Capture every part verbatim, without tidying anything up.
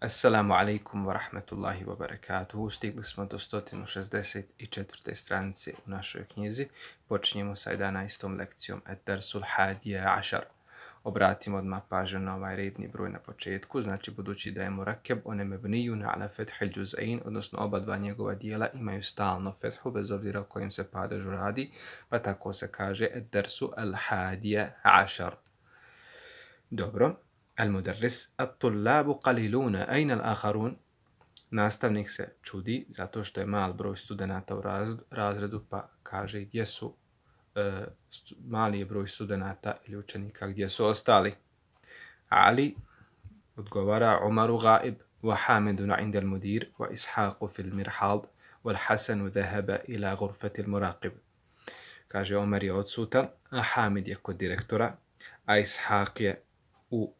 Assalamu alaikum wa rahmatullahi wa barakatuhu. Stigli smo do sto šezdeset četvrte stranice u našoj knjizi. Počinjemo sa jedanaestom lekcijom Ad-Darsul Hadija Ašar. Obratimo odmah pažnju na ovaj redni broj na početku, znači budući da je murakeb, on je mebnijun ala fethil džuz'ain, odnosno oba dva njegova dijela imaju stalno fethu, bez obzira o kojem se padežu radi, pa tako se kaže Ad-Darsu al-Hadija Ašar. Dobro. Al-Mudarris, at-tullabu qaliluna, ajna al-akharun? Nastavnik se čudi zato što je mal broj studenata u razredu, pa kaže gdje su e, stu, mali je broj studenata ili učenika, gdje su ostali. Ali odgovara Umaru gaib, wa Hamidun inda al-mudir, wa Ishaqu fil mirhad, wal Hasanu dhahaba ila ghurfati al-muraqib. Kaže Omar je odsutan, a Hamid je kod direktora, a Ishaq je u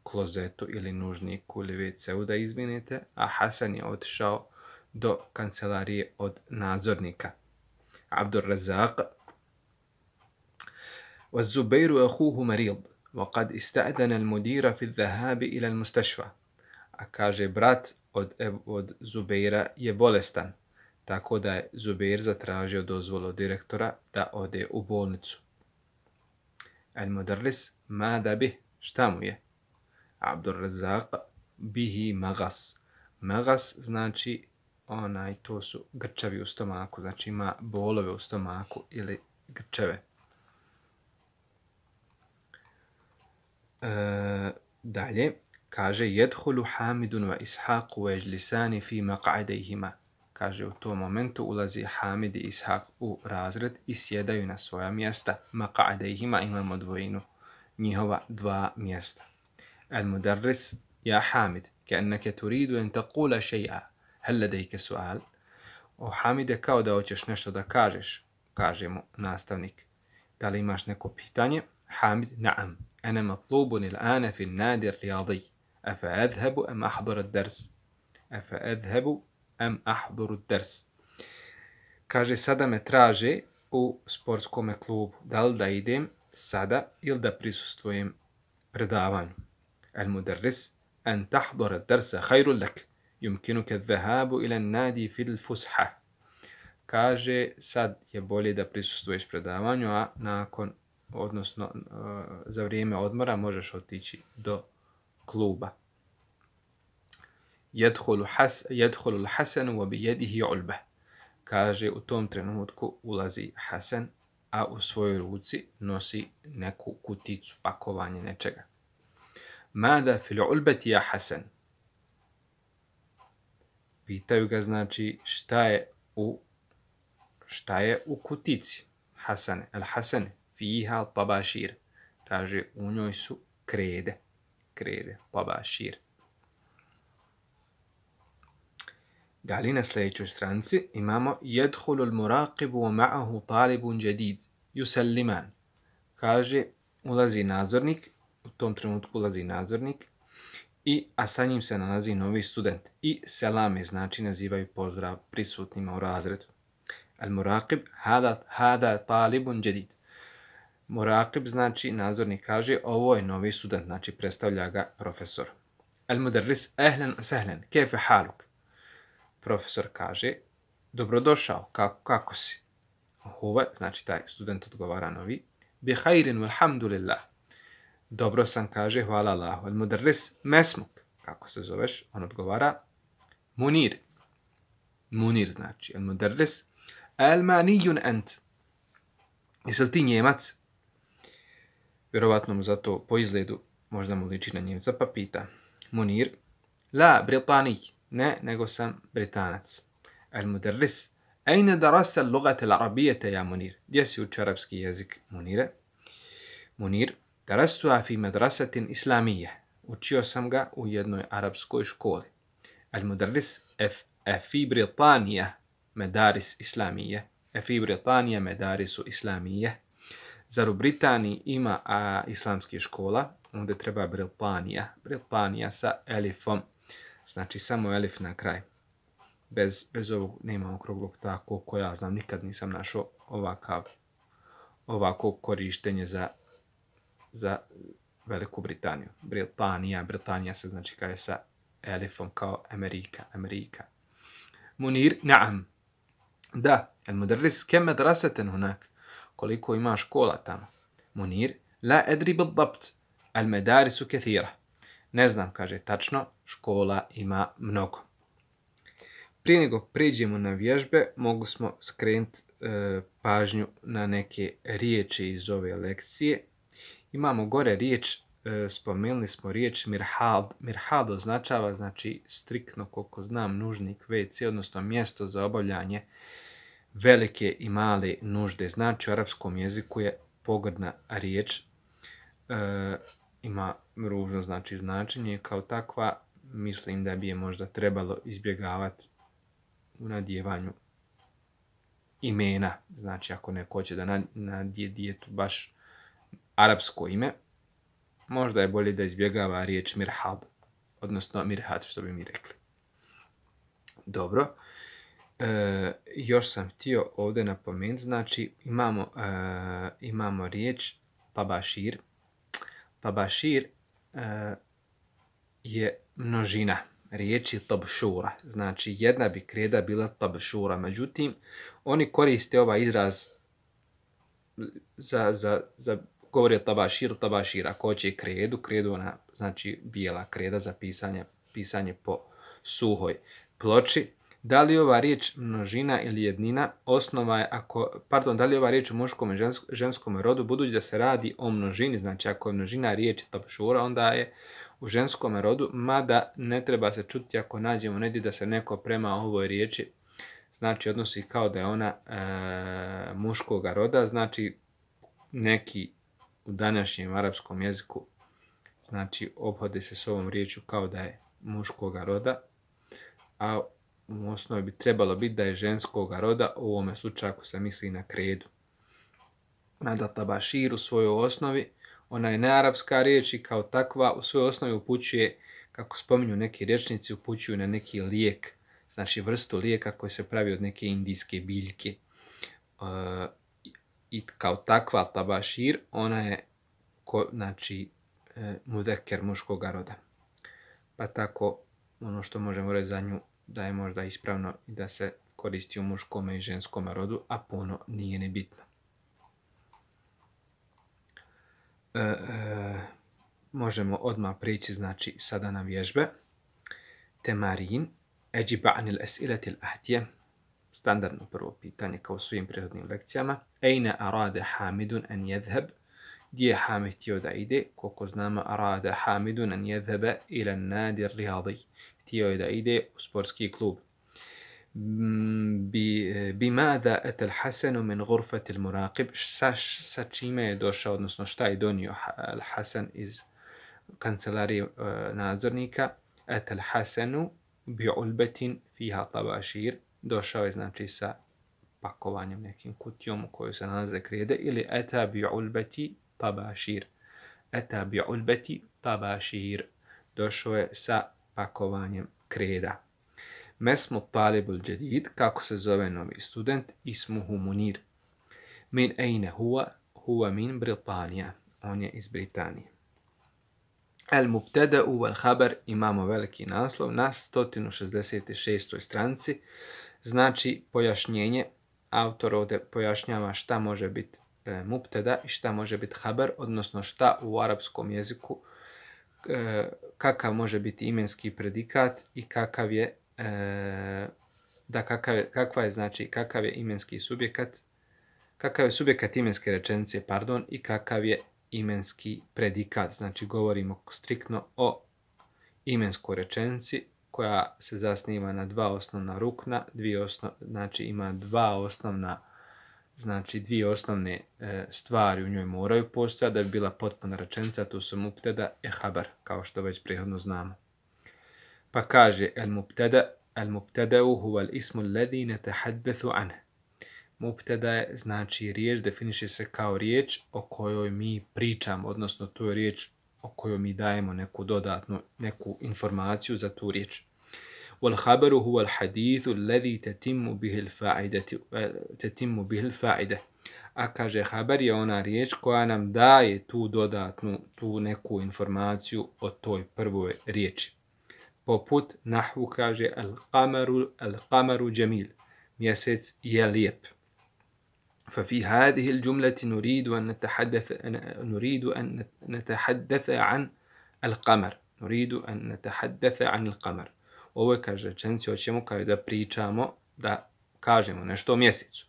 klozetu ili nužniku ili ve ce u da izvinite, a Hasan je otišao do kancelarije od nadzornika. Abdur Razak والزبير أخوه مريض وقد استأذن المدير في الذهاب إلى المستشفى. A kaže brat od, od Zubeira je bolestan, tako da je Zubeir zatražio dozvolu od direktora da ode u bolnicu. Al-Mudarris, mada bih, šta mu je? Abdur Razak, bihi magas. Magas znači onaj, to su grčevi u stomaku, znači ima bolove u stomaku ili grčeve. E, dalje, kaže, jedhulu Hamidun wa Ishaq wa ejlisani fi maq'adejhima. Kaže, u tom momentu ulazi Hamid i Ishaq u razred i sjedaju na svoja mjesta. Maq'adejhima imamo dvojinu, njihova dva mjesta. المدرس يا حامد كأنك تريد أن تقول شيئا هل لديك سؤال؟ O Hamide, kao da hoćeš nešto da kažeš, kaže mu nastavnik. Da li imaš neko pitanje? Hamid, naam. Ana matlubun il-ana fi n-nadi riyadi. Afa adhabu am ahduru ad-dars? Afa adhabu am ahduru ad-dars? Kaže, sada me traže u sportskom klubu. Da li da idem sada ili da prisustvujem predavanju? المدرس أن تحضر الدرس خير لك يمكنك الذهاب إلى النادي في الفسحة. Kaže, sad je bolje da prisustvuješ predavanju, a nakon, odnosno za vrijeme odmora možeš otići do kluba. يدخل حس يدخل الحسن وبيده علبة. Kaže, u tom trenutku ulazi Hasan, a u svojoj ruci nosi neku kuticu, pakovanje nečega. Mada fil ulbati ja Hasan? Pitaju ga, znači, šta je u šta je u kutici? Hasane, al Hasane, fiha tabašir. Kaže, u njoj su krede. Krede, tabašir. Dalje na sljedećoj stranici imamo jedhulu al-muraqibu wa ma'ahu talibun jadid yusalliman. Kaže, ulazi nadzornik, u tom trenutku ulazi nadzornik, i, a sa njim se nalazi novi student. I selame, znači nazivaju pozdrav prisutnima u razredu. Al-muraqib, hada, hada talibun jadid. Muraqib znači nadzornik kaže, ovo je novi student, znači predstavlja ga profesor. Al-mudarris, ahlan sahlan, kefe haluk? Profesor kaže, dobrodošao, kako, kako si? Huve, znači taj student odgovara novi, bi khairin walhamdulillah. Dobro sam, kaže, hvala Allahu. Al-mudarris, mesmuk, kako se zoveš? On odgovara, Munir. Munir znači, al-mudarris, almanijun ent. Jesi li ti Njemac? Vjerovatno mu zato po izgledu možda mu liči na Njemca, pa pita. Munir, la, Britanij. Ne, nego sam Britanac. Al-mudarris, ajna darasta al-lugata al-arabijata ja Munir? Gdje si uči arapski jezik, Munire? Munir, darastuha fi madrasatin islamije. Učio sam ga u jednoj arapskoj školi. Al-mudarris, a fi Britanija medaris islamije. A fi Britanija medarisu islamije. Zar u Britaniji ima a, islamske škola? Onda treba Britanija. Britanija sa elifom. Znači samo elif na kraj. Bez, bez ovog nema okruglog tako ko ja znam. Nikad nisam našao ovakav, ovako korištenje za, za Veliku Britaniju. Britanija, Britanija se znači kaže sa elifom kao Amerika, Amerika. Munir, naam. Da, el mudarris kem madrasatan hunak. Koliko ima škola tamo. Munir, la adri بالضبط. Al madarisu kathira. Ne znam, kaže tačno, škola ima mnogo. Prije nego priđemo na vježbe, mogu smo skrenuti e, pažnju na neke riječi iz ove lekcije. Imamo gore riječ, e, spomenuli smo riječ mirhad. Mirhad označava, znači striktno, koliko znam, nužnik ve ce, odnosno mjesto za obavljanje velike i male nužde. Znači u arapskom jeziku je pogrdna riječ. E, ima ružno znači značenje, kao takva mislim da bi je možda trebalo izbjegavati u nadjevanju imena. Znači ako neko hoće da nadje dijetu baš arapsko ime, možda je bolje da izbjegava riječ mirhad, odnosno mirhad, što bi mi rekli. Dobro. E, još sam htio ovdje napomenuti, znači imamo, e, imamo riječ tabašir. Tabašir e, je množina riječi tabšura. Znači jedna bi kreda bila tabšura. Međutim, oni koriste ovaj izraz za, za, za govori o tabaširu, tabašir. Ako hoće kredu, kredu ona znači bijela kreda za pisanje, pisanje po suhoj ploči. Da li ova riječ množina ili jednina, osnova je ako, pardon, da li ova riječ u muškom i ženskom rodu, budući da se radi o množini, znači ako je množina riječi tabšura, onda je u ženskom rodu, mada ne treba se čuti ako nađemo negdje da se neko prema ovoj riječi, znači odnosi kao da je ona e, muškog roda, znači neki u današnjem arapskom jeziku, znači obhode se s ovom riječu kao da je muškog roda, a u osnovi bi trebalo biti da je ženskog roda, u ovome slučaju ako se misli na kredu. Mada tabašir u svojoj osnovi, ona je nearapska riječ i kao takva u svojoj osnovi upućuje, kako spominju neki rječnici, upućuju na neki lijek, znači vrstu lijeka koji se pravi od neke indijske biljke. E, I kao takva tabašir, ona je ko, znači e, mudeker muškog roda. Pa tako ono što možemo reći za nju da je možda ispravno i da se koristi u muškom i ženskom rodu, a puno nije nebitno. E, e, možemo odmah prići, znači, sada na vježbe. Temarin, eđiba anil esiletil ahtije, standardno prvo pitanje kao u svim prethodnim lekcijama. Ejne arade Hamidun en jedheb, gdje je Hamid htio da ide, koliko znamo arade Hamidun en jedhebe ila nadir rihadi, htio je da ide u sportski klub. Bimada etel Hasanu min gurfatil muraqib, sa, sa čime je došao, odnosno šta je donio Hasan iz kancelarije uh, nadzornika. Etel Hasanu bi ulbetin fiha tabašir, došao je znači sa pakovanjem, nekim kutijom u kojoj se nalaze krede, ili eta bi ulbeti tabašir. Eta bi ulbeti tabašir, došao je sa pakovanjem kreda. Mesmu talibul jadid, kako se zove novi student, ismuhu Munir. Min ejne huwa, huwa min Britanija, on je iz Britanije. El mubtada'u wal khabar, imamo veliki naslov na sto šezdeset šestoj stranici, znači pojašnjenje. Autor ovdje pojašnjava šta može biti e, mubtada i šta može biti khabar, odnosno šta u arapskom jeziku, e, kakav može biti imenski predikat i kakav je e, da kakav je, kakva je znači kakav je imenski subjekat, kakav je subjekat imenske rečenice, pardon, i kakav je imenski predikat. Znači govorimo striktno o imenskoj rečenici koja se zasniva na dva osnovna rukna, dvije osno, znači ima dva osnovna, znači dvije osnovne e, stvari u njoj moraju postojati da bi bila potpuna rečenica, to su mubtada i habar, kao što već prethodno znamo. Pa kaže el mubtada, el mubtada'u huwa al ismu alladhi natahaddathu anhu. Mubtada je znači riječ, definiše se kao riječ o kojoj mi pričamo, odnosno to je riječ o kojoj mi dajemo neku dodatnu, neku informaciju za tu riječ. Wal khabaru huwa al hadithu alladhi tatimmu bihi al fa'idatu tatimmu bihi al fa'ida. a kaže haber je ona riječ koja nam daje tu dodatnu, tu neku informaciju o toj prvoj riječi. Poput nahvu kaže al-qamaru al-qamaru jamil, mjesec je lijep. ففي هذه الجملة نريد أن نتحدث نريد أن نتحدث عن القمر نريد أن نتحدث عن القمر. Ovo je kaže rečenici hoćemo kao da pričamo, da kažemo nešto o mjesecu.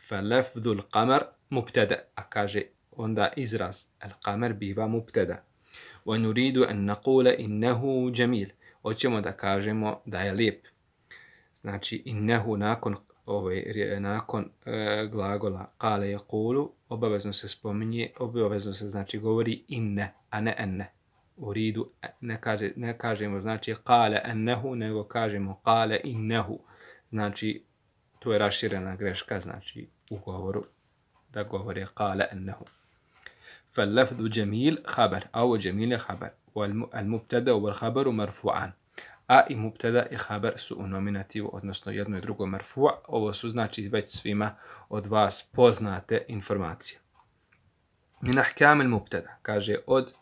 فلفظ القمر مبتدأ, a kaže onda izraz al-qamar biva mubtada. ونريد أن نقول إنه جميل, hoćemo da kažemo da je lijep. Znači innehu nakon Ovaj, nakon e, glagola kale je kulu, obavezno se spominje, obavezno se znači govori inne, a ne enne. U ridu ne, kaže, ne kažemo znači kale ennehu, nego kažemo kale innehu. Znači, to je raširena greška, znači u govoru da govori kale ennehu. فاللفظ جميل خبر أو جميل خبر والمبتدا والخبر مرفوعان. A i mubtada i haber su u nominativu, odnosno jedno i drugo marfu'. Ovo su znači već svima od vas poznate informacije. Min ahkam al-mubtada, kaže od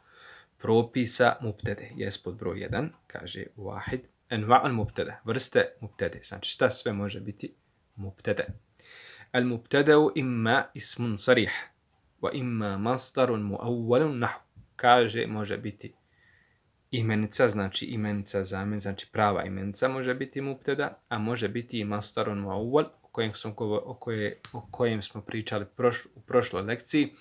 propisa mubtade, jest pod broj jedan, kaže wahid, anwa' al-mubtada, vrste mubtade, znači šta sve može biti mubtada. Al-mubtada imma ismun sarih, wa imma masdarun muawwalun nahw, kaže može biti imenica, znači imenica zamjen, znači prava imenica može biti mubtada, a može biti i masdarun muawwal, o kojem smo, o koje, o kojem smo pričali proš, u prošloj lekciji,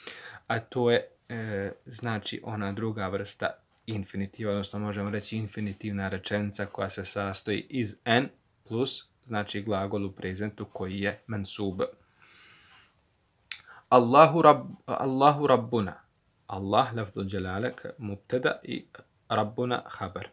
a to je e, znači ona druga vrsta infinitiva, odnosno možemo reći infinitivna rečenica koja se sastoji iz en plus, znači glagol u prezentu koji je mansub. Allahu, rab, Allahu rabbuna. Allah, lafzul jalala, mubtada i ربنا خبر.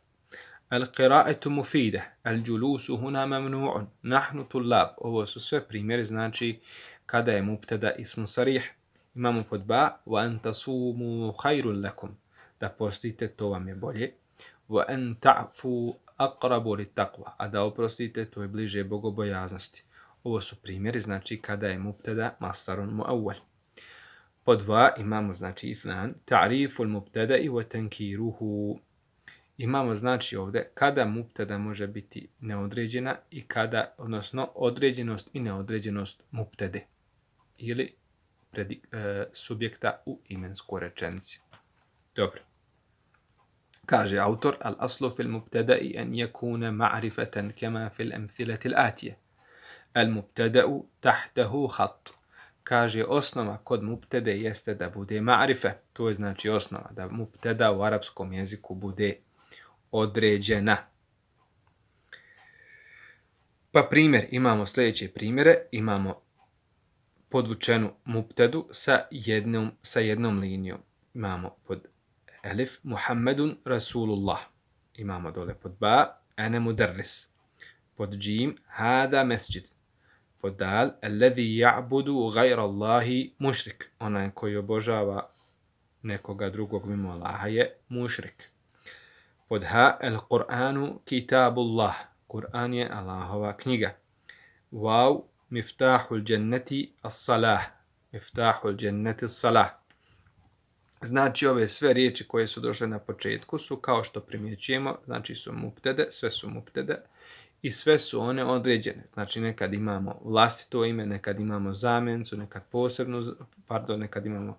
القراءة مفيدة. الجلوس هنا ممنوع. نحن طلاب. Ovo su sve primjeri, znači kada je mubtada ismun sarih. Imamo pod ba وأن تصوموا خير لكم. Da postite, to vam je bolje. وأن تعفوا أقرب للتقوى. A da oprostite, to je bliže bogobojaznosti. Ovo su primjeri, znači kada je mubtada masdarun muawwal. Pod dva imamo znači ifnan, ta'riful mubtada'i wa tankiruhu. Imamo znači ovdje kada mubtada može biti neodređena i kada, odnosno određenost i neodređenost mubtade ili predi, e, subjekta u imenskoj rečenici. Dobro. Kaže autor, al aslu fil mubtada'i an yakuna ma'rifatan kama fil amthilati al-atiyah. Al mubtada'u tahtahu khat. Kaže osnova kod mubtede jeste da bude ma'rife. To je znači osnova da mubteda u arapskom jeziku bude određena. Pa primjer, imamo sljedeće primjere. Imamo podvučenu mubtedu sa jednom, sa jednom linijom. Imamo pod elif Muhammedun Rasulullah. Imamo dole pod ba ene mudarris. Pod džim hada mesđid. Pod dal alladhi ya'budu ghayra Allahi mušrik. Onaj koji obožava nekoga drugog mimo Allaha je mušrik. Pod ha al-Qur'anu kitabullah. Kur'an je Allahova knjiga. Waw miftahul jannati as-salah. Miftahul jannati as-salah. Znači ove sve riječi koje su došle na početku su kao što primjećujemo, znači su mubtede, sve su mubtede. I sve su one određene. Znači nekad imamo vlastito ime, nekad imamo zamjencu, nekad posebnu, pardon, nekad imamo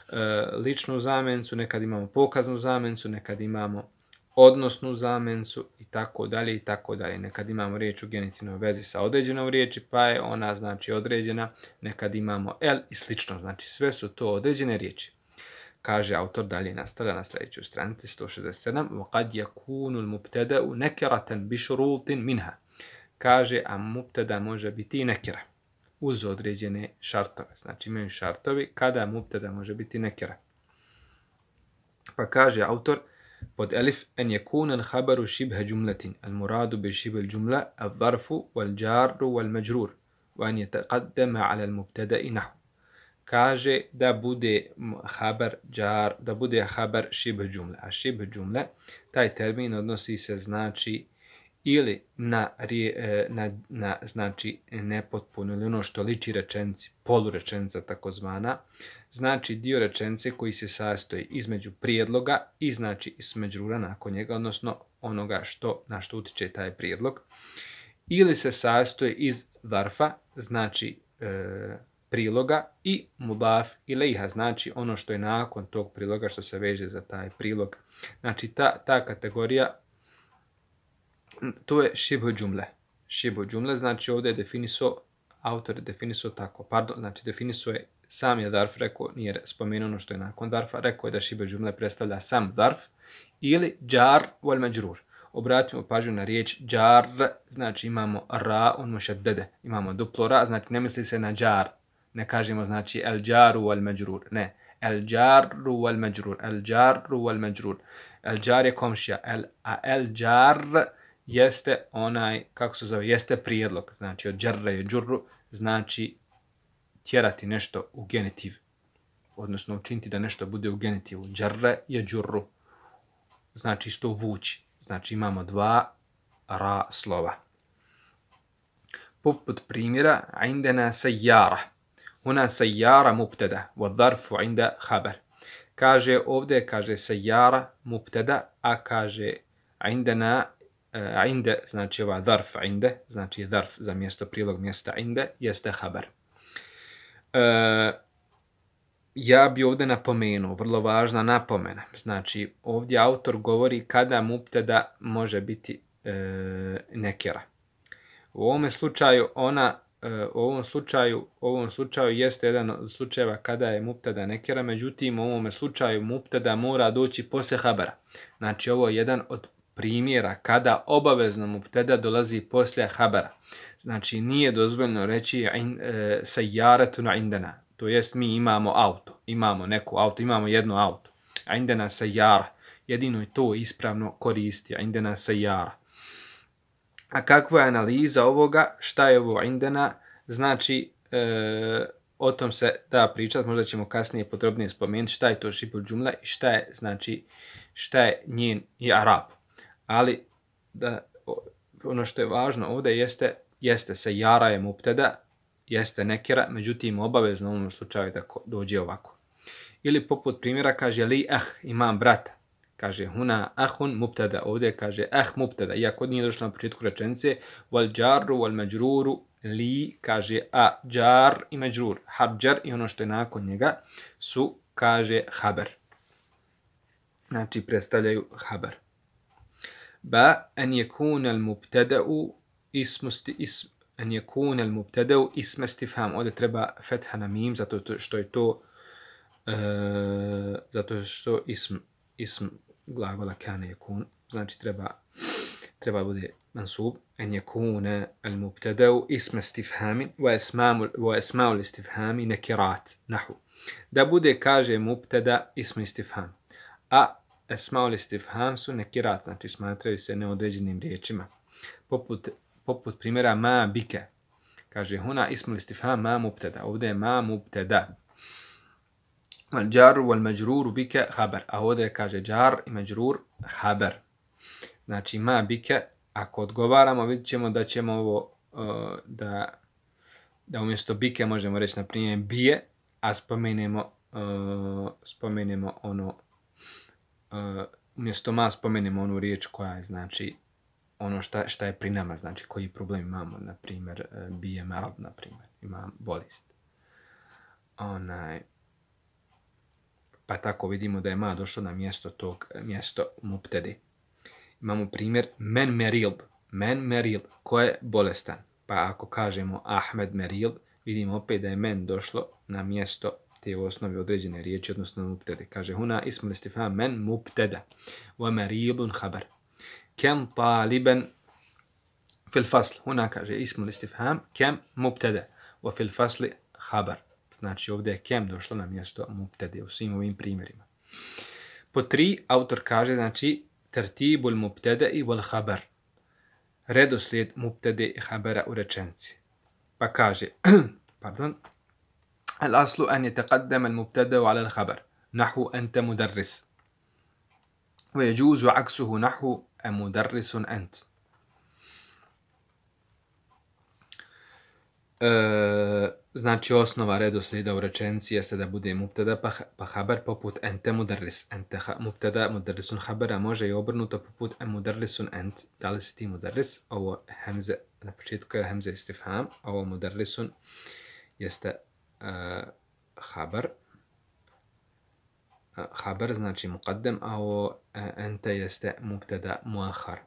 e, ličnu zamjencu, nekad imamo pokaznu zamjencu, nekad imamo odnosnu zamjencu i tako dalje i tako dalje. Nekad imamo riječ u genitivnoj vezi sa određenom riječi, pa je ona znači određena, nekad imamo el i slično. Znači sve su to određene riječi. Kaže autor dalje nastavlja na sljedećoj stranici sto šezdeset sedam. وَقَدْ يَكُونُ الْمُبْتَدَأُ نَكِرَةً بِشُرُوطٍ مِنْهَا. Kaže, a mubtada može biti i nekira uz određene šartove. Znači imaju šartovi kada mubtada može biti nekira. Pa kaže autor pod elif en yakuna al-khabaru shibha jumlatin al-muradu bi shibh al-jumla al-zarfu wal-jarru wal-majrur wa an yataqaddama 'ala al-mubtada'i nahwu. Kaže da bude habar jar, da bude habar šibh džumle. A šibh džumle, taj termin odnosi se znači ili na, na, na znači nepotpuno ili ono što liči rečenci, polurečenica takozvana, znači dio rečenice koji se sastoji između prijedloga i znači ismeđrura nakon njega, odnosno onoga što, na što utiče taj prijedlog, ili se sastoji iz zarfa, znači e, priloga, i mudaf ilejha, znači ono što je nakon tog priloga što se veže za taj prilog. Znači ta, ta kategorija, to je šibhu džumle. Šibhu džumle, znači ovdje je definisao, autor je definisao tako, pardon, znači definisao je sam je zarf, rekao, nije spomenuo ono što je nakon zarfa, rekao je da šibhu džumle predstavlja sam zarf ili džar wal međrur. Obratimo pažnju na riječ džar, znači imamo ra, on mušaddede, imamo duplo ra, znači ne misli se na džar, ne kažemo znači el džaru wal međrur, ne, el džaru wal međrur, el džaru wal međrur, el džar je komšija, el, a el džar jeste onaj, kako se zove, jeste prijedlog, znači od džarra je džurru, znači tjerati nešto u genitiv, odnosno učiniti da nešto bude u genitivu, džarra je džurru, znači isto vući. Znači imamo dva ra slova. Poput primjera, indena sajjara. Huna sajjara mubtada, wa dharfu inda khabar. Kaže ovdje, kaže sajjara mubtada, a kaže indena, uh, inde, znači ova dharf inde, znači dharf za mjesto, prilog mjesta inde, jeste khabar. Uh, Ja bi ovdje napomenuo, vrlo važna napomena. Znači, ovdje autor govori kada mubtada može biti e, nekera. U ovome slučaju ona, e, u ovom slučaju, u ovom slučaju jeste jedan od slučajeva kada je mubtada nekera, međutim u ovome slučaju mubtada mora doći poslije habara. Znači, ovo je jedan od primjera kada obavezno mubtada dolazi poslije habara. Znači, nije dozvoljeno reći e, sajjaratuna indana. To jest mi imamo auto, imamo neko auto, imamo jedno auto. A indena sajjara, jedino je to ispravno koristi, a indena sajjara. A kakva je analiza ovoga, šta je ovo indena, znači e, o tom se da pričati, možda ćemo kasnije podrobnije spomenuti šta je to šibhu džumla i šta je, znači, šta je njen i arab. Ali da, ono što je važno ovdje jeste, jeste sajjara je mubtada, jeste nekera, međutim obavezno u ovom slučaju da dođe ovako. Ili poput primjera kaže li ah, imam brata. Kaže huna ahun mubtada, ovdje kaže ah mubtada, iako nije došlo na početku rečenice, wal džarru wal međruru, li kaže a džar i međrur, habđar i ono što je nakon njega su, kaže haber. Znači predstavljaju haber. Ba an yakuna al mubtada'u ismusti ism an yakuna al mubtada'u ism istifham. Ovdje treba fetha na mim zato što je to e, zato što ism ism glagola kana yakun, znači treba treba bude mansub. An yakuna al mubtada'u ism istifham wa asma'u wa asma'u al istifham nakirat nahu. Da bude, kaže, mubtada ism istifham, a asma'u al istifham su nakirat, znači smatraju se neodređenim riječima. Poput poput primjera ma bike. Kaže huna ismul istifham ma mubtada. Ovdje je ma mubtada. Wal džaru wal međruru bike haber. A ovdje kaže džar i međrur haber. Znači ma bike, ako odgovaramo, vidjet ćemo da ćemo ovo, uh, da, da umjesto bike možemo reći na primjer bije, a spomenemo, uh, spomenemo ono, uh, umjesto ma spomenemo onu riječ koja je, znači, ono šta, šta je pri nama, znači koji problem imamo, na primjer, bije marad, na primjer, imam bolest. Onaj, pa tako vidimo da je ma došlo na mjesto tog, mjesto mubtede. Imamo primjer men meril, men meril, ko je bolestan. Pa ako kažemo Ahmed meril, vidimo opet da je men došlo na mjesto te osnovi određene riječi, odnosno mubtede. Kaže huna ismul istifham men mubtada, wa merilun habar. كم طالبا في الفصل. هنا kaže اسم الاستفهام كم مبتدا وفي الفصل خبر. Znači ovdje je kem došlo na mjesto mubtade u svim ovim primjerima. Po tri, autor kaže, znači tertibul mubtada'i wal khabar. Redoslijed mubtade i khabara u rečenici. Pa kaže, pardon, al aslu an yataqaddama al mubtada'u ala al khabar. Nahu anta mudarris. ويجوز عكسه نحو مدرس أنت. e, znači osnova redoslijeda u rečenici jeste da bude mubtada pa, pa haber poput ente mudarris. Ente ha, mubtada mudarrisun habera može i obrnuto poput em mudarrisun ent. Da li si ti mudarris? Ovo hemze, na početku je hemze istifham, ovo mudarrisun jeste uh, haber. Uh, haber znači muqaddam, a ovo uh, ente jeste mubtada muahar.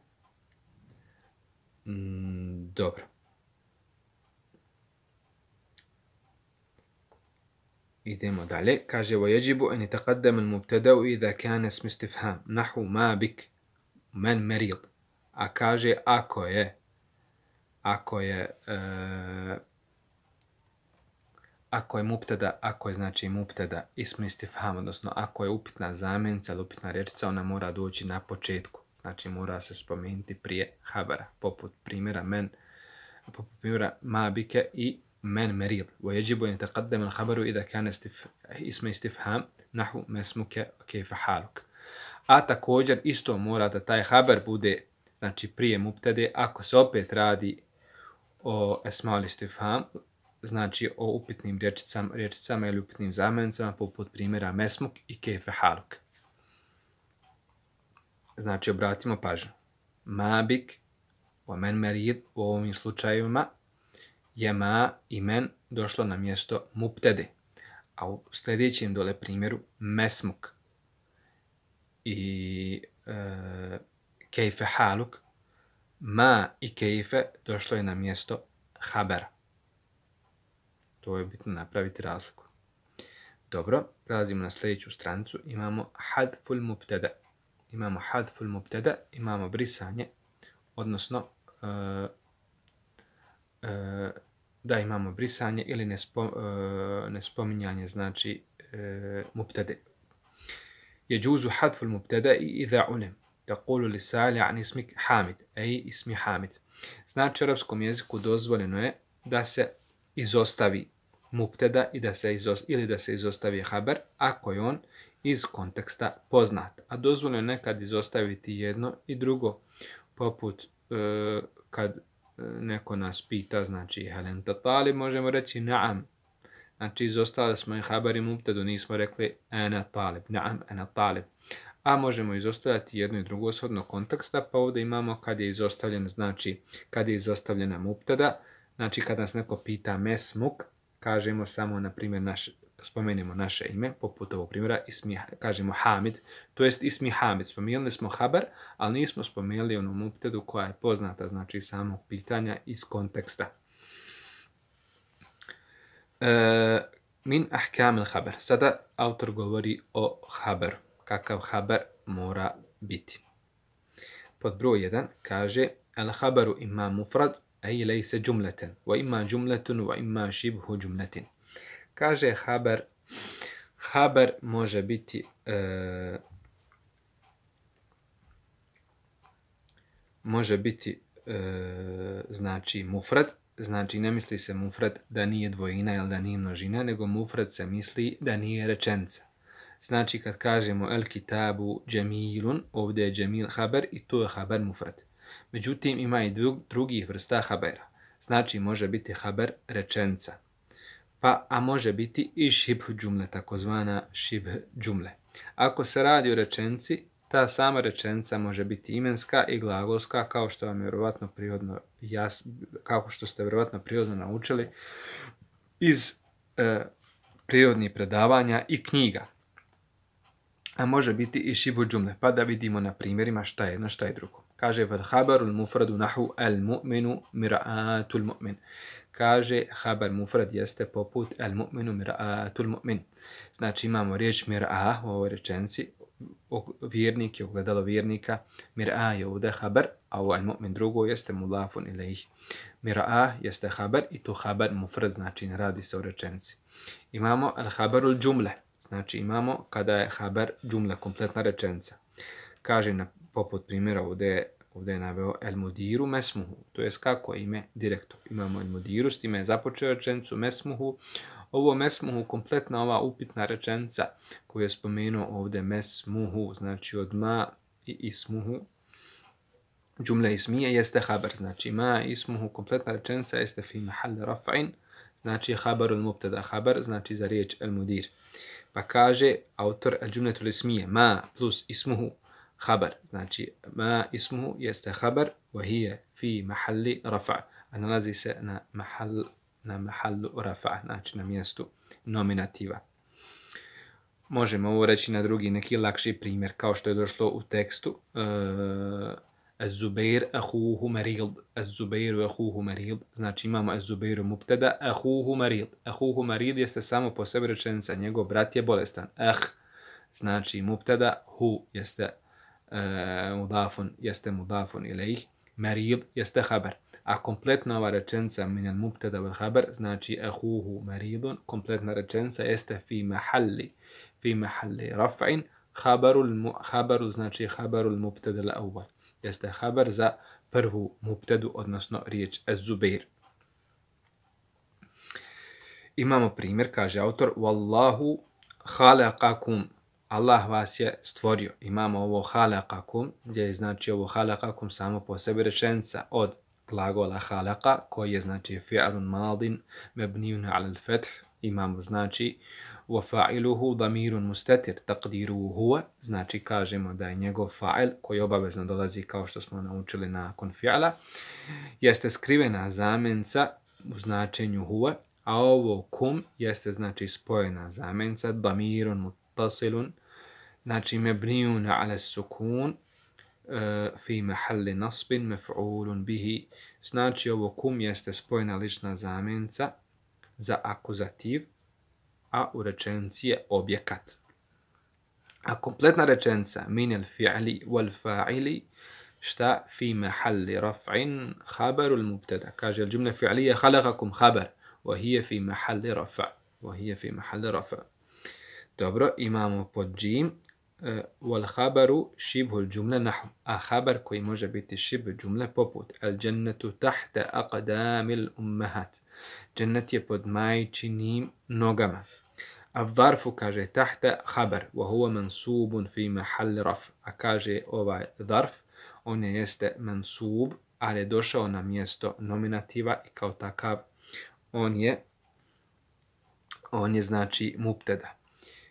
Mm, dobro. idemo dalje. Kaže ويجب أن يتقدم المبتدأ إذا كان اسم استفهام نحو ما بك من مريض. A kaže ako je ako je uh, ako je mubtada, ako je znači mubtada ism istifham, odnosno ako je upitna zamjenica ili upitna rečica, ona mora doći na početku. Znači mora se spomenuti prije habara, poput primjera men, poput primjera ma bike i من مريض. ويجب أن يتقدم الخبر إذا كان استف... اسم استفهام نحو ما اسمك كيف حالك. A također isto mora da taj haber bude znači prije mubtade ako se opet radi o esmaul istifham, znači o upitnim rečicama, rečicama ili upitnim zamjenicama poput primjera mesmuk i kejfe haluk. Znači obratimo pažnju. Mabik o men merid u ovim slučajevima je ma i men došlo na mjesto mubtede, a u sljedećem dole primjeru mesmuk i e, kejfe haluk, ma i kejfe došlo je na mjesto habera. To je bitno napraviti razliku. Dobro, prelazimo na sljedeću stranicu. Imamo hadful mubtada. Imamo hadful mubtada, imamo brisanje, odnosno e, e, da imamo brisanje ili nespo, e, nespominjanje, znači e, mubtade. يجوز حذف المبتدا اذا علم تقول للسائل عن اسمك حامد اي اسمي حامد. Znači u arapskom jeziku dozvoljeno je da se izostavi mubtada i da se izostavi, ili da se izostavi haber ako je on iz konteksta poznat. A dozvoljeno je nekad izostaviti jedno i drugo, poput e, kad neko nas pita, znači helen tatali, možemo reći na'am. Znači izostali smo i haber i mubtadu, nismo rekli ana talib, na'am ana talib. A možemo izostavljati jedno i drugo shodno konteksta, pa ovdje imamo kad je izostavljen, znači kad je izostavljena mubtada, znači kad nas neko pita mesmuk, kažemo samo, na primjer, naš, spomenemo naše ime, poput ovog primjera, ismi, kažemo Hamid, to jest ismi Hamid. Spomenuli smo haber, ali nismo spomenuli onu mubtadu koja je poznata, znači samog pitanja iz konteksta. E, min ahkam il haber. Sada autor govori o haberu. Kakav haber mora biti. Pod broj jedan kaže al haberu imma mufrad, aj lejse džumleten, wa imma džumletun, wa imma šibhu džumletin. Kaže haber, haber može biti e, može biti e, znači mufrad, znači ne misli se mufrad da nije dvojina ili da nije množina, nego mufrad se misli da nije rečenica. Znači kad kažemo el kitabu džemilun, ovdje je džemil haber i to je haber mufrad. Međutim ima i drugih vrsta habera. Znači može biti haber rečenica. Pa, a može biti i šibh džumle, takozvana šibh džumle. Ako se radi o rečenci, ta sama rečenica može biti imenska i glagolska, kao što vam je vjerovatno prirodno jas, kao što ste vjerovatno prirodno naučili iz e, prirodnih predavanja i knjiga. A može biti i šibh džumle, pa da vidimo na primjerima šta je jedno, šta je drugo. Kaže vel haberul mufradu nahu al mu'minu mir'atul mu'min. Kaže haber mufrad jeste poput al mu'minu mir'atul mu'min. Znači imamo riječ mir'a u ovoj rečenci, vjernik je ogledalo vjernika, mir'a je ovdje haber, a ovo al mu'min drugo jeste mulafun ilaihi. Mir'a jeste haber i to haber mufrad, znači ne radi se o rečenci. Imamo al haberul džumle, znači imamo kada je haber džumle, kompletna rečenica. Kaže na poput primjera ovdje, ovdje je naveo el mudiru mesmuhu, to jest kako je ime direktor. Imamo el mudiru, s time je započeo rečenicu mesmuhu. Ovo mesmuhu, kompletna ova upitna rečenica koju je spomenuo ovdje mesmuhu, znači od ma i ismuhu, džumle ismije jeste haber, znači ma i ismuhu, kompletna rečenica jeste fi mahal raf'in, znači habarul mubtada, habar znači za riječ el mudir. Pa kaže autor al džumletul ismije, ma plus ismuhu habar, znači ma ismuhu jeste habar, wa hiya fi mahalli rafa, a nalazi se na mahal, na mahallu rafa, znači na mjestu nominativa. Možemo ovo reći na drugi neki lakši primjer, kao što je došlo u tekstu. Az-Zubair ahuhu marid, Az-Zubairu ahuhu marid, znači imamo Az-Zubairu mubtada, ahuhu marid. Ahuhu marid jeste samo po sebi rečenica, njegov brat je bolestan. Ah, znači mubtada, hu jeste uh, mudafun, jeste mudafun ilaih, marid jeste habar. A kompletna ova rečenica minal mubtada wal habar, znači ahuhu maridun, kompletna rečenica jeste fi mahalli, fi mahalli raf'in, habarul, habaru znači habarul mubtada al-awwal. Jeste habar za prvu mubtadu, odnosno riječ Az-Zubair. Imamo primjer, kaže autor, Wallahu khalaqakum, Allah vas je stvorio. Imamo ovo khalaqakum, gdje je znači ovo khalaqakum samo po sebi rečenica od glagola khalaqa, koji je znači fi'alun madin, mebnijun ala al-fath. Imamo znači وَفَاعِلُهُ ضَمِيرٌ مُسْتَتِرٌ تَقْدِيرُهُ هُوَ, znači kažemo da je njegov fa'il, koji obavezno dolazi kao što smo naučili nakon fi'ala, jeste skrivena zamjenca u značenju huwa, a ovo kum jeste znači spojena zamjenca ضَمِيرٌ مُتَّصِلٌ, znači مَبْنِيٌ عَلَى السُّكُونِ fi mahalli nasbin maf'ulun bihi, znači ovo kum jeste spojena lična zamjenca za akuzativ, a u rečenici je objekat. A kompletna rečenica min al fi'li wal fa'ili šta fi mahalli raf'in khabarul mubtada. Kaže al jumla fi'liya khalaqakum khabar wa hiya fi mahalli raf', wa hiya fi mahalli raf'. Dobro, imamo pod džim wal khabaru shibhu al jumla nahw, a khabar koji može biti shibh jumle poput al jannatu tahta aqdamil ummahat. Džennet je pod majčinim nogama. A zarfu kaže tahta habar, wa huwa mansubun fi mahall raf. A kaže ovaj zarf, on je jeste mansub, ali je došao na mjesto nominativa i kao takav on je on je znači mubtada.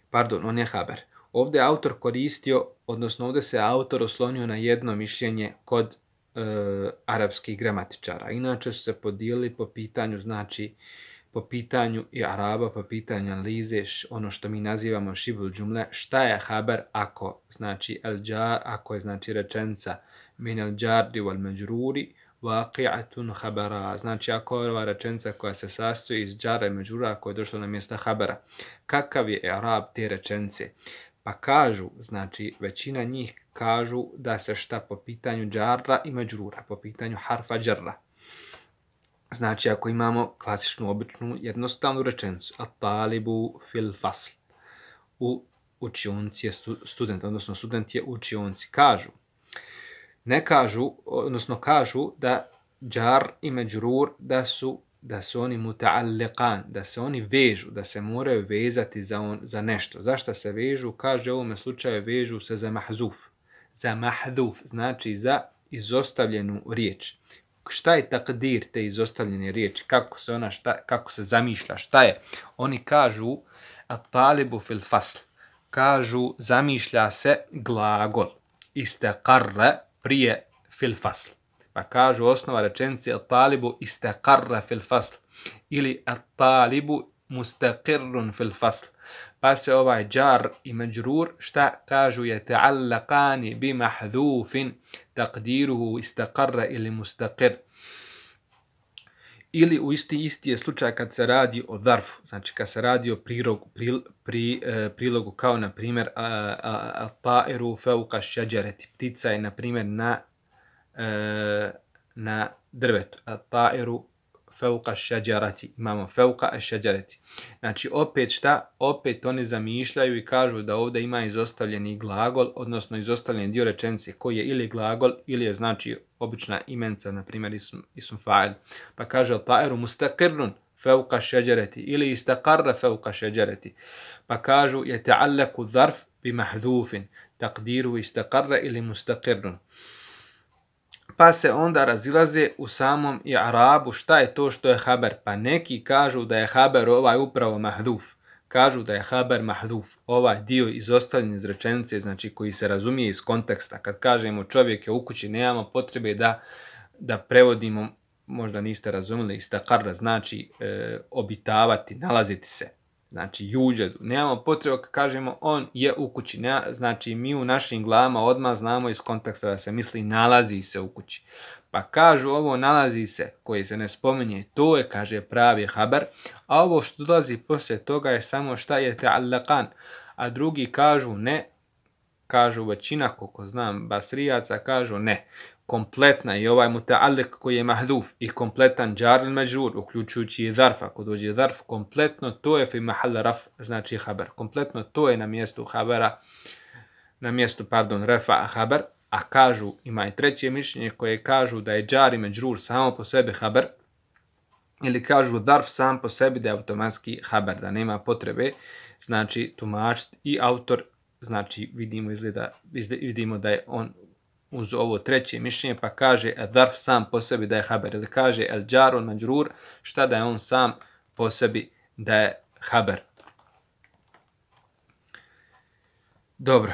Pardon, on je habar. Ovdje autor koristio, odnosno ovdje se autor oslonio na jedno mišljenje kod e, arapskih gramatičara. Inače su se podijelili po pitanju, znači po pitanju i araba, po pitanju analize, ono što mi nazivamo šibul džumle, šta je habar ako, znači, el džar, ako je znači rečenica min el džardi wal međruri, waqi'atun habara, znači ako je ova rečenica koja se sastoji iz džara i međrura koja je došla na mjesta habara. Kakav je arab te rečenice? Pa kažu, znači većina njih kažu da se šta po pitanju džarra i međrura, po pitanju harfa džarra. Znači, ako imamo klasičnu, običnu, jednostavnu rečenicu, at-talibu fil fasl, u učionci je student, odnosno student je u učionci, kažu, ne kažu, odnosno kažu da džar i međrur, da su, da su oni muta'alliqan, da se oni vežu, da se moraju vezati za, on, za nešto. Zašto se vežu? Kaže u ovome slučaju vežu se za mahzuf. Za mahduf, znači za izostavljenu riječ. Šta je takdir te izostavljene riječi? Kako se ona, šta, kako se zamišlja? Šta je? Oni kažu at-talibu fil fasl. Kažu zamišlja se glagol. Istaqarra prije fil fasl. Pa kažu osnova rečenice at-talibu istaqarra fil fasl ili at-talibu mustaqirrun fil fasl. Pa se ovaj džar i međrur šta kažu je ta'allaqani bi mahdhufin taqdiruhu istaqarra ili mustaqir. Ili u isti isti je slučaj kad se radi o zarfu, znači kad se radi o prilogu, pri, pri, eh, prilogu kao na primjer at-ta'iru fawqa ash-shajarati, ptica je na primjer na eh, na drvetu, at-ta'iru fawqa ash-shajarati, imamo fawqa ash-shajarati. Znači opet šta? Opet oni zamišljaju i kažu da ovdje ima izostavljeni glagol, odnosno izostavljeni dio rečenice koji je ili glagol ili je znači obična imenca, na primjer ism, ism fa'il. Pa kaže al-ta'iru mustaqirrun fawqa ash-shajarati ili istaqarra fawqa ash-shajarati. Pa kažu yata'allaqu zarf bi mahdhufin taqdiruhu istaqarra ili mustaqirrun. Pa se onda razilaze u samom i'rabu šta je to što je haber. Pa neki kažu da je haber ovaj upravo mahduf. Kažu da je haber mahduf. Ovaj dio izostavljen iz rečenice, znači koji se razumije iz konteksta. Kad kažemo čovjek je u kući, nemamo potrebe da, da prevodimo, možda niste razumjeli, istakarra znači e, obitavati, nalaziti se. Znači juđedu. Nemamo potrebe kad kažemo on je u kući. Ne, znači mi u našim glavama odmah znamo iz konteksta da se misli nalazi se u kući. Pa kažu ovo nalazi se koji se ne spominje, to je kaže pravi haber, a ovo što dolazi poslije toga je samo šta je ta'allaqan. A drugi kažu ne, kažu većina, koliko znam basrijaca, kažu ne. Kompletna i ovaj muta'alliq koji je mahduf i kompletan jar il majrur, uključujući i zarf, ako dođe zarf, kompletno to je fi mahal raf, znači haber. Kompletno to je na mjestu habera, na mjestu, pardon, rafa haber, a kažu, ima i treće mišljenje koje kažu da je jar i majrur samo po sebi haber, ili kažu zarf sam po sebi da je automatski haber, da nema potrebe, znači tumačiti i autor, znači vidimo, izgleda, vidimo da je on uz ovo treće mišljenje, pa kaže zarf sam po sebi da je haber, ili kaže el jar wal majrur, šta da je on sam po sebi da je haber. Dobro,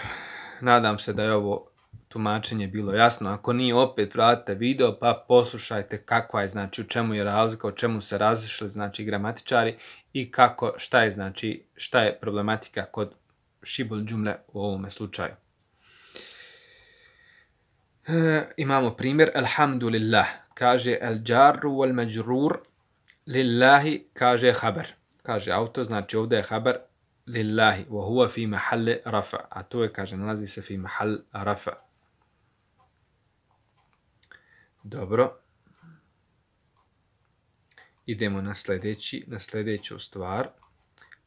nadam se da je ovo tumačenje bilo jasno. Ako nije, opet vratite video pa poslušajte kakva je, znači u čemu je razlika, o čemu se razišli, znači gramatičari i kako, šta je, znači šta je problematika kod šibul džumle u ovome slučaju. E, imamo primjer, alhamdulillah, kaže el jarru wal majrur, lillahi, kaže haber. Kaže auto, znači ovdje je haber lillahi, wa huwa fi mahalli rafa, a to je, kaže, nalazi se fi mahal rafa. Dobro. Idemo na sljedeći, na sljedeću stvar.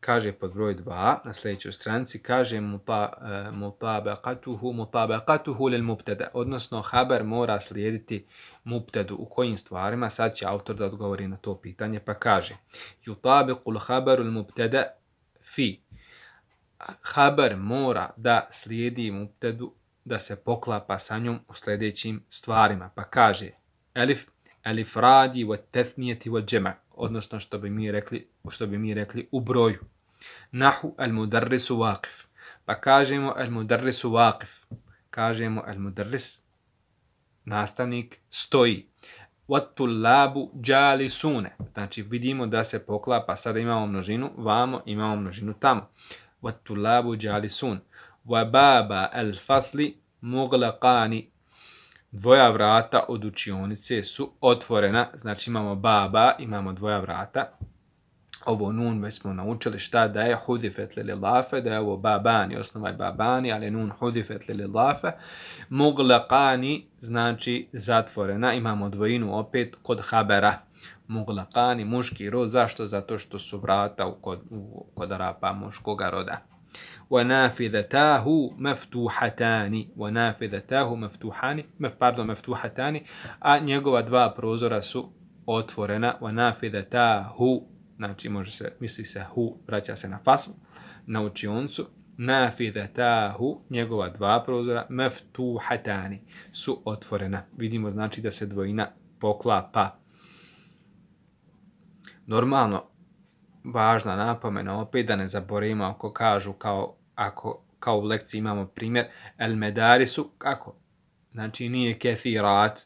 Kaže pod broj dva, na sljedećoj stranici, kaže mutabaqatuhu mutabaqatuhu lil mubtada, odnosno haber mora slijediti mubtadu u kojim stvarima. Sad će autor da odgovori na to pitanje, pa kaže yutabiqul haberu al mubtada fi. Haber mora da slijedi mubtadu, da se poklapa sa njom u sljedećim stvarima, pa kaže elif elif radi wa tafniyati wal jama', odnosno što bi mi rekli, što bi mi rekli u broju. Nahu al mudarrisu waqif, pa kažemo al mudarrisu waqif, kažemo al mudarris, nastavnik stoji. Wat tullabu jalisune, znači vidimo da se poklapa, sada imamo množinu vamo, imamo množinu tamo. Wat tullabu jalisun. Wa baba al fasli mughlaqani, dvoja vrata od učionice su otvorena, znači imamo baba, imamo dvoja vrata. Ovo nun već smo naučili šta da je hudifet li lillafe, da je ovo babani, osnova je babani, ali nun hudifet li lillafe. Mughlaqani znači zatvorena, imamo dvojinu opet kod habera. Mughlaqani, muški rod, zašto? Zato što su vrata u kod, u, kod Arapa muškoga roda. وَنَافِذَتَاهُ مَفْتُوحَتَانِ وَنَافِذَتَاهُ مَفْتُوحَانِ pardon, مَفْتُوحَتَانِ, a njegova dva prozora su otvorena. وَنَافِذَتَاهُ, znači može se, misli se hu, vraća se na fasl, na učioncu. نَافِذَتَاهُ, njegova dva prozora, مَفْتُوحَتَانِ, su otvorena. Vidimo znači da se dvojina poklapa. Normalno, važna napomena opet da ne zaboravimo ako kažu kao, ako, kao u lekciji imamo primjer el medarisu, kako? Znači nije kefirat,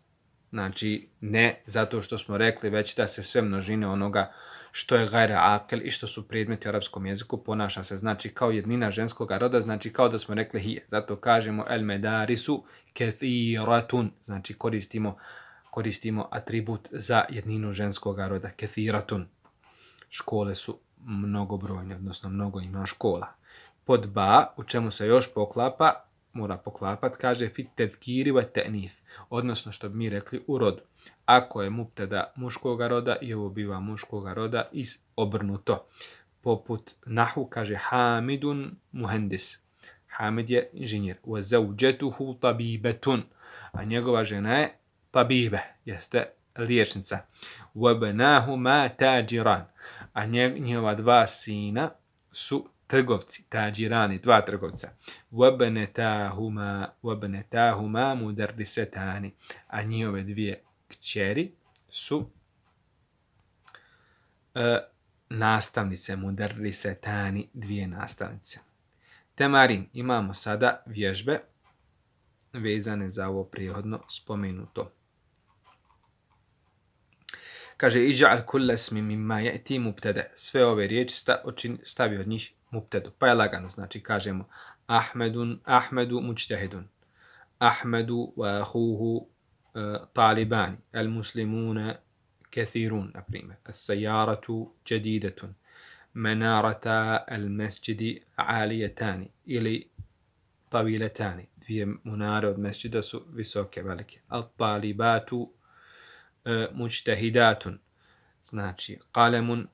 znači ne zato što smo rekli već da se sve množine onoga što je gajra akel i što su predmeti u arapskom jeziku ponaša se znači kao jednina ženskog roda, znači kao da smo rekli hije. Zato kažemo el medarisu kefiratun, znači koristimo, koristimo atribut za jedninu ženskog roda, kefiratun. Škole su mnogobrojne, odnosno mnogo ima škola. Pod ba, u čemu se još poklapa, mora poklapat, kaže fit tevkiri wa ta'nif, odnosno što bi mi rekli u rodu. Ako je mubtada muškoga roda i ovo biva muškoga roda i obrnuto. Poput nahu kaže Hamidun muhendis. Hamid je inženjer. Wa zawjatuhu tabibetun, a njegova žena je tabibe, jeste liječnica. Wa banahuma tajiran, a njegova dva sina su trgovci, tađirani, dva trgovca. وَبْنَتَاهُمَا وَبْنَتَاهُمَا مُدَرِّسَتَانِ a njihove dvije kćeri su uh, nastavnice, mudarrisetani, dvije nastavnice. Temarin, imamo sada vježbe vezane za ovo prijehodno spomenuto. Kaže, iđa'al kulla ismi mimma ya'ti mubtada. Sve ove riječi sta, stavi od njih mubtadu. Pa je lagano, znači kažemo Ahmedun, Ahmedu mučtehidun. Ahmedu wa ahuhu uh, talibani. Al muslimuna kathirun, na primjer. As-sajaratu jadidatun. Menarata al mesjidi alijetani. Ili taviletani. Dvije munare od mesjida su visoke, velike. Al-talibatu uh, mučtehidatun. Znači, qalemun,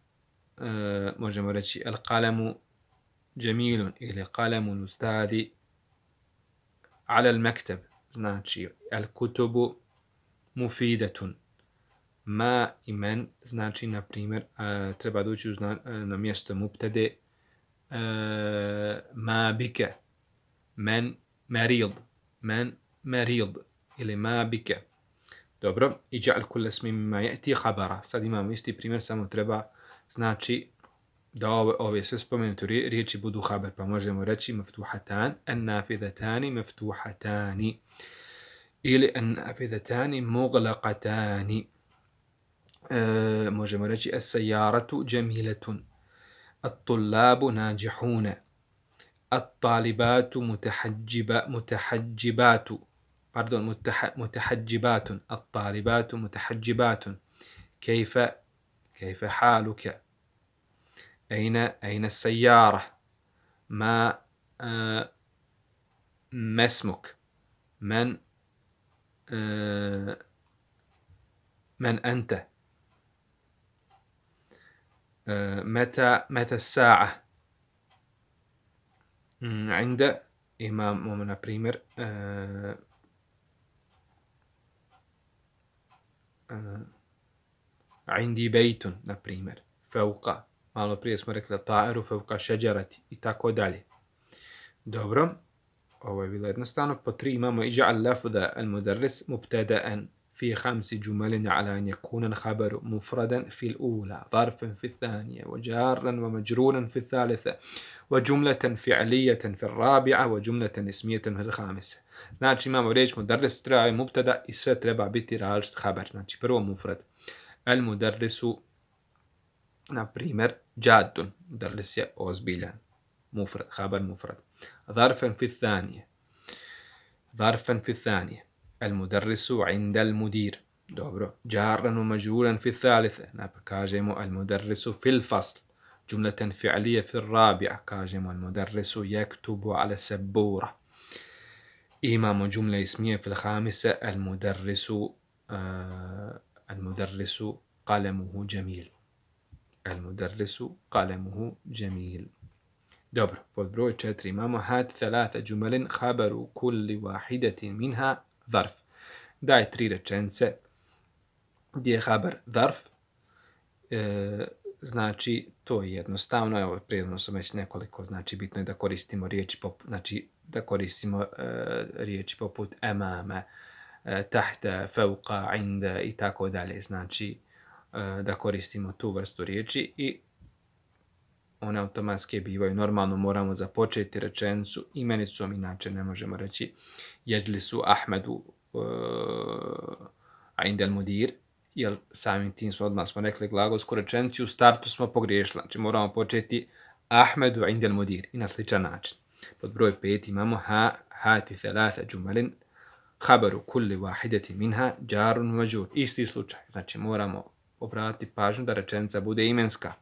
uh, možemo reći, al-qalemu jamilun ili qalemun ustadi ala al-maktab. Znači, al-kutubu mufidatun. Ma i men, znači, na primjer, uh, treba doći uh, na mjesto mubtade uh, ma bike, men marid, men marid, ili ma bike. Dobro, iđa'al kulla ismi mimma ya'ti khabara. Sad imamo isti primjer, samo treba, znači, da ove, ove sve spomenute riječi budu haber, pa možemo reći maftuhatan, an-nafidatani maftuhatani, ili an-nafidatani mughlaqatani. E, možemo reći as-sajaratu jamilatun, at-tullabu najihuna, at-talibatu mutahajjiba mutahajjibatu, pardon, mutaha, mutahajjibatun, at-talibatu mutahajjibatun. Kayfa kayfa haluka? Aina aina as-sayyara? Ma uh, masmuk? Man uh, man anta? متى متى الساعة؟ عند إمام na primjer uh, uh, عندي بيت na primjer فوق, malo prije smo rekli ta'iru fauqa šeđarati i tako dalje. Dobro, ovo je bilo jednostavno. Po tri imamo iđa'al lafda al-mudarris mubtada'an في خمس جمل على أن يكون الخبر مفردا في الأولى ظرفا في الثانية وجارا ومجرورا في الثالثة وجملة فعلية في الرابعة وجملة اسمية في الخامسة. Znači imamo riječ mudarris, treba je mubtada i sve treba biti različit haber. Znači prvo mufrad. El mudarrisu, na primjer, džadun. Mudarris je ozbiljan. Mufrad, haber mufrad. Zarfan fi thanije. Zarfan fi thanije. المدرس عند المدير. dobro. جارا ومجرورا في الثالثة. كاجمو المدرس في الفصل. جملة فعلية في الرابعة. كاجمو المدرس يكتب على السبورة. إمام جملة اسمية في الخامسة. المدرس آه المدرس قلمه جميل. المدرس قلمه جميل. dobro. pod broj četiri imamo هات ثلاثة جمل خبر كل واحدة منها ظرف. Daj tri rečence gdje je haber zarf. E, znači, to je jednostavno. Evo, prijedno sam već nekoliko. Znači, bitno je da koristimo riječi poput, znači, da koristimo e, riječi poput emame, e, tahta, fauqa, inda i tako dalje. Znači, e, da koristimo tu vrstu riječi i one automatske bivaju. Normalno moramo započeti rečenicu imenicom, inače ne možemo reći jeđlisu Ahmedu uh, inda al-mudir, jer samim tim smo odmah smo rekli glagolsku rečenicu, u startu smo pogriješili. Znači moramo početi Ahmedu inda al-mudir i na sličan način. Pod broj pet imamo ha, hati thalatha džumalin, habaru kulli wahidati minha, džarun mađur. Isti slučaj. Znači moramo obratiti pažnju da rečenica bude imenska.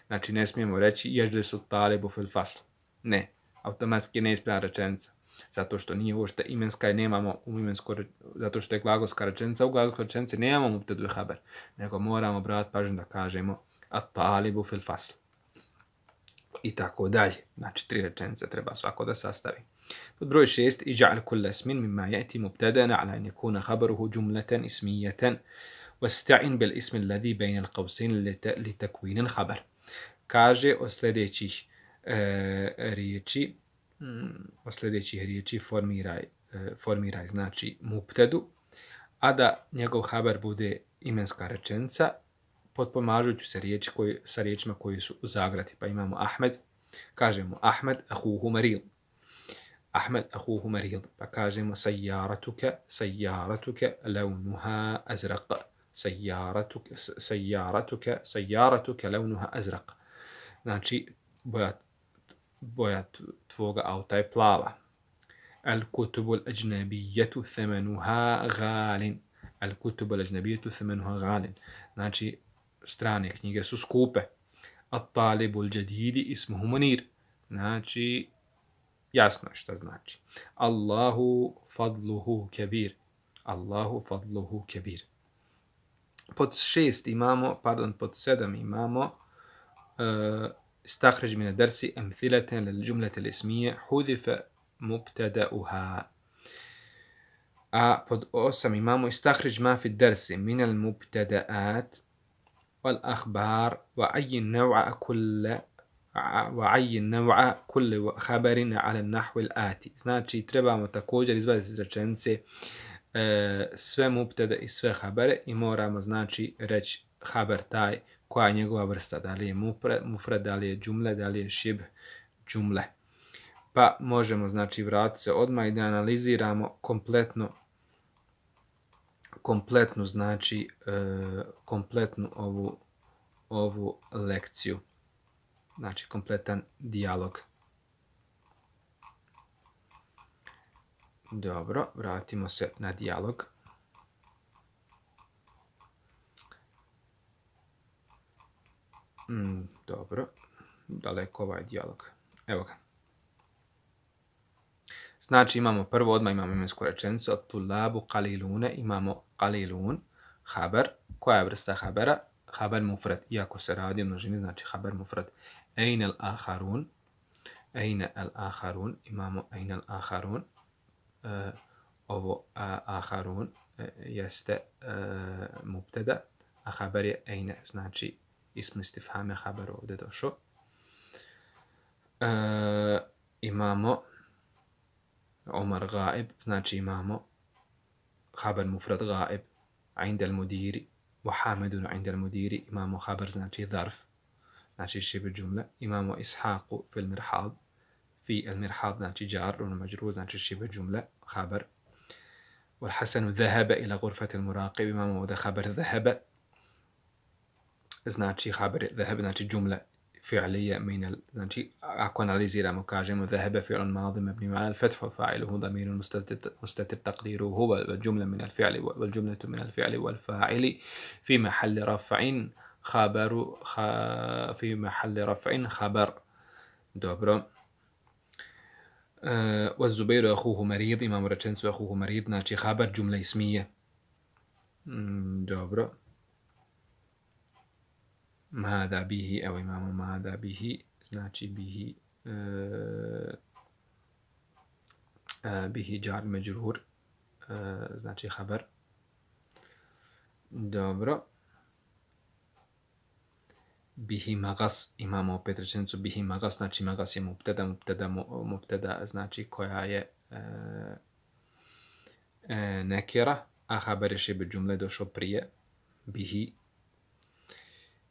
Znači ne smijemo reći ježlisu talibu fil fasl. Ne, automatski ne ispravna rečenica. Zato što nije uopšte imenska i nemamo u imensko, zato što je glagolska rečenica, u glagolskoj rečenici nemamo mubtedu i haber, nego moramo obratiti pažnju da kažemo at talibu fil fasl. I tako dalje. Znači tri rečenice treba svako da sastavi. Pod broj šest, iđa'al kulla ismin mimma ya'ti mubtadana ala an yakuna khabaruhu jumlatan ismiyatan واستعن بالاسم الذي بين القوسين لتكوين الخبر. Kaže od sljedećih e, riječi, mm, od sljedećih riječi formiraj, e, formiraj znači mubtedu, a da njegov haber bude imenska rečenica, potpomažujući se riječi koji, sa riječima koji su u zagradi. Pa imamo Ahmed, kažemo Ahmed ahuhu maril. Ahmed ahuhu maril. Pa kažemo sajjaratuke, sajjaratuke launuha azraq. Sajjaratuke, sajjaratuke, sajjaratuke launuha azraq. Znači, boja, boja tvoga auta je plava. Al-kutubu al-ajnabijetu thamanuha ghalin. Al-kutubu al-ajnabijetu thamanuha ghalin. Znači, strane knjige su skupe. At-talibu al-jadidi ismuhu Munir. Znači, jasno je šta znači. Allahu fadluhu kebir. Allahu fadluhu kebir. Pod šest imamo, pardon, pod sedam imamo uh, istahređ mine dersi emthileten lil džumlete lismije hudife mubtada'uha. A pod osam imamo istahređ ma fi dersi minel mubtada'at wal ahbar wa ayyin naw'a kulle وعين نوع كل خبر على النحو الآتي. Znači, trebamo također izvaditi iz rečenice e, sve mubtede i sve habere i moramo, znači, reći haber taj koja je njegova vrsta, da li je mufrad, da li je džumle, da li je šib džumle. Pa možemo, znači, vratiti se odmah i da analiziramo kompletno kompletnu, znači, e, kompletnu ovu, ovu lekciju. Znači, kompletan dijalog. Dobro, vratimo se na dijalog. Mm, dobro, daleko ovaj dijalog. Evo ga. Znači, imamo prvo, odmah imamo imensku rečenicu. At-tulabu qalilune, imamo qalilun, haber. Koja je vrsta habera? Haber mufrad, iako se radi o množini, znači haber mufrad. Ejne al-aharun, ejne al-aharun, imamo ejne al-aharun, uh, ovo uh, aharun uh, jeste uh, mubtada, a haber je ejne, znači ism istifhame haber ovdje došao. Uh, imamo Omar gaib, znači imamo haber mufrad gaib, عند المدير وحامد عند المدير imamo haber, znači zarf, znači šibr džumle. Imamo Ishaku fil mirhad, fi el mirhad, znači jar, ono mađrur, znači šibr džumle, haber. Wal Hasanu dhahaba ila ghurfati al muraqib, imamo ovdje haber dhahaba, znači haber dhahaba, znači džumle fi'lije min al, znači ako analiziramo kažemo dhahaba fi'lun madi mabni ala al fath wa fa'iluhu dhamirun mustatir mustatir taqdiruhu huwa wal jumla min al fi'li wal jumlatu min al fi'li wal fa'ili fi mahalli raf'in khabaru kha, fi mahalli raf'in khabar. Dobro. Wa Zubairu akhuhu marid, imamo rečenicu akhuhu marid, znači khabar džumla ismije. Dobro. Mada bihi, evo imamo mada bihi, znači bihi, uh, uh, bihi jar međrur, uh, znači haber. Dobro. Bihi magas, imamo opet rečenicu bihi magas, znači magas je mubtada, mubtada, mubtada znači koja je uh, uh, nekera, a haber je šibr džumle došao prije, bihi.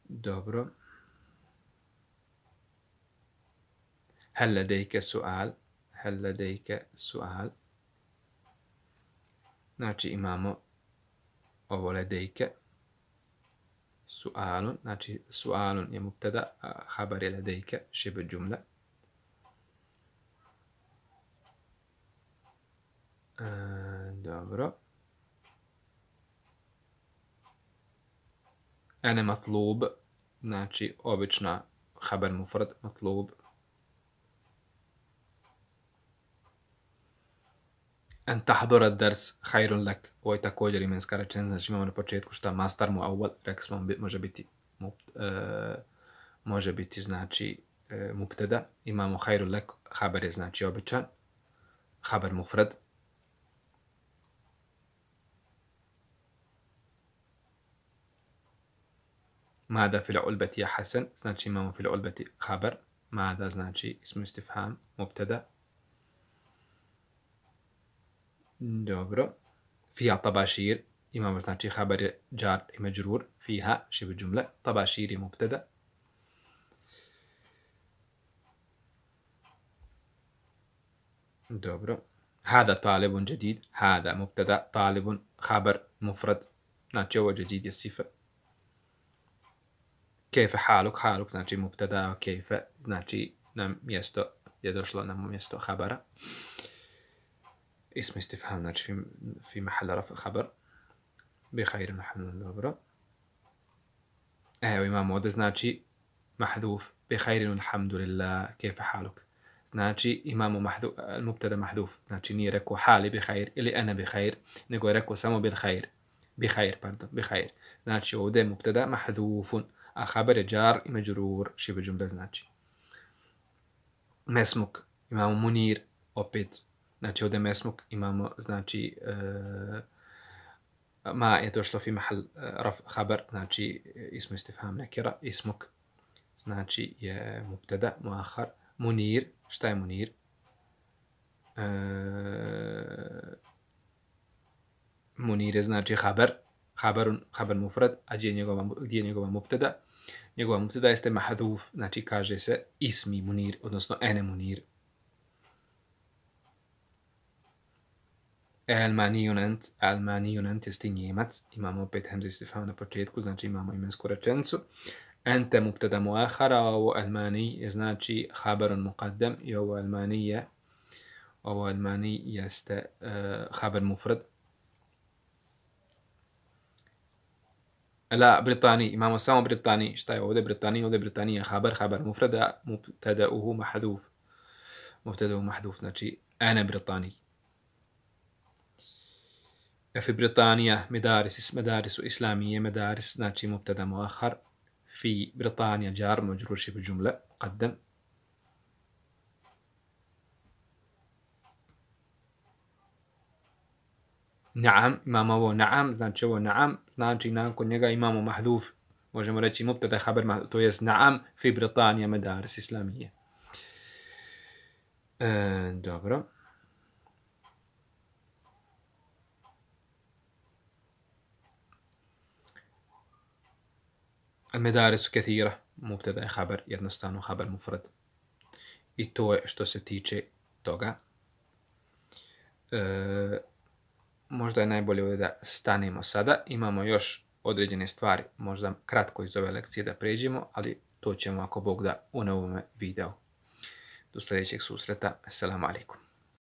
Dobro. هل لديك سؤال؟ هل لديك سؤال؟ Znači imamo ovo ledejke. Sualun, znači sualun je mubtada, a habar je ledejke, šibr džumle. E, dobro. Ene matlub, znači obična haber mufrad, matlub. En tahdura dars hayrun lak, ovo je također imenska rečenica, znači imamo na početku šta mastar mu awal, rekli smo može biti, uh, može biti znači uh, mubtada, imamo hayrun lak, haber je znači običan, haber mufrad. Mada fil ulbeti je hasan, znači imamo fil ulbeti haber, Mada znači ismu istifham, mubtada. Dobro. Fiha tabašir, imamo znači habar je džar i međrur. Fiha, šibu džumle, tabašir je mubtada. Dobro. Hada talibun jadid, hada mubtada, talibun, habar, mufrad. Znači ovo jadid je sifa. Kejfe haluk, haluk znači mubtada, kejfe znači na mjesto, je došlo na mjesto habara. Ismu istifham, znači fi, fi mahal raf habar. Bi khairin alhamdulillah, dobro. Evo imamo ovdje znači mahduf, bi khairin alhamdulillah, kejfe haluk. Znači imamo mahduf, mubtada mahduf, znači nije rekao hali bi khair ili ana bi khair, nego je rekao samo bil khair. Bi khair, pardon, bi khair. Znači ovdje je mubtada mahdufun, a habar je džar i međrur, šibu džumle znači. Mesmuk, imamo munir, opet, znači ovdje mesmuk imamo, znači, uh, ma je došlo fi mahal uh, raf habar, znači ismu istifham nekira, ismuk, znači je mubtada, muahar, munir, šta je munir? Uh, munir je znači habar, habarun, habar mufrad, a gdje je njegova, gdje je njegova mubtada? Njegova mubtada jeste mahduf, znači kaže se ismi munir, odnosno ene munir. Almanijun ent, almanijun ent jeste njemac, imamo opet hemza istifham na početku, znači imamo imensku rečenicu. Ente mubtada muahara, ovo almani je znači habarun muqaddam i ovo almani je, ovo almani jeste uh, habar mufrad. La, Britani, imamo samo Britani. Šta je ovdje Britani? Ovdje Britani je habar, habar mufrada, mubtada'uhu mahduf. Mubtada'uhu mahduf, znači ana Britani. Fi Britanija, medaris, medarisu islamije, medaris, znači mubtada muahar. Fi Britanija, jar, majrur, šibu džumle, muqaddam. Naam, imamo ovo naam, znači ovo naam, znači nakon njega imamo mahduf, možemo reći mubtada habar mahduf, to jest naam fi Britanija medaris islamije. E, dobro. Al-medarisu kathira, mubtada je habar, jednostavno habar mufrad. I to je što se tiče toga. E, Možda je najbolje ovdje da stanemo sada. Imamo još određene stvari, možda kratko iz ove lekcije da pređemo, ali to ćemo ako Bog da u novome videu. Do sljedećeg susreta. Assalamu alaikum.